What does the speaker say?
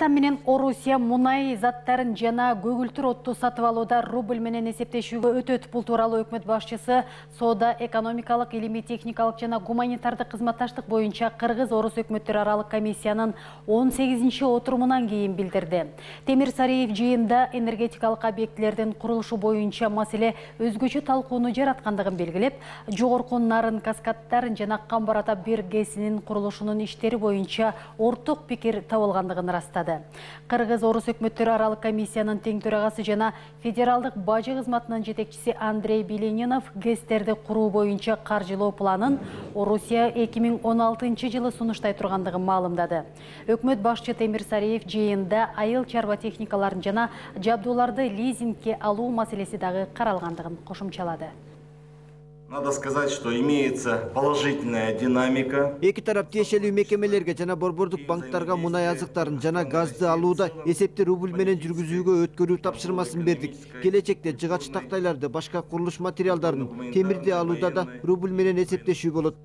Кыргызстан менен Орусия мунай заттарын жана көгүлтүр отту сатып алууда рубль менен эсептешүүгө өтөт. Бул тууралуу өкмөт башчысы соода, экономикалык, илимий, техникалык жана гуманитардык кызматташтык боюнча Кыргыз-Орус өкмөттөр аралык комиссиянын 18-чи отурумунан кийин билдирди. Темир Сариев жыйында энергетикалык объектилердин курулушу боюнча маселе өзгөчө талкууну жараткандыгын белгилеп, жогорку Нарын каскадтар жана Камбар-Ата биргесинин курулушунун иштери боюнча орток пикир табылгандыгын растады. Кыргыз-Орус өкмөттөр аралык комиссиянын тең төрагасы жана федералдык бажы кызматынын жетекчиси Андрей Беленинов ГЭСтерди куруу боюнча каржылоо планын Орусия 2016-жылы сунуштай тургандыгын маалымдады. Өкмөт башчы Темир Сариев жыйында айыл чарба техникаларын жана жабдууларды лизингке алуу маселеси дагы каралгандыгын кошумчалады. Надо сказать, что имеется положительная динамика. Эки тарап тиешелүү мекемелерге жана борбордук банктарга мунай азыктарын жана газды алууда эсепти рубль менен жүргүзүүгө өткөрүү тапшырмасын бердик. Келечекте жыгач тактайларды, башка курулуш материалдарын, темирди алууда да рубль менен эсептешүү болот.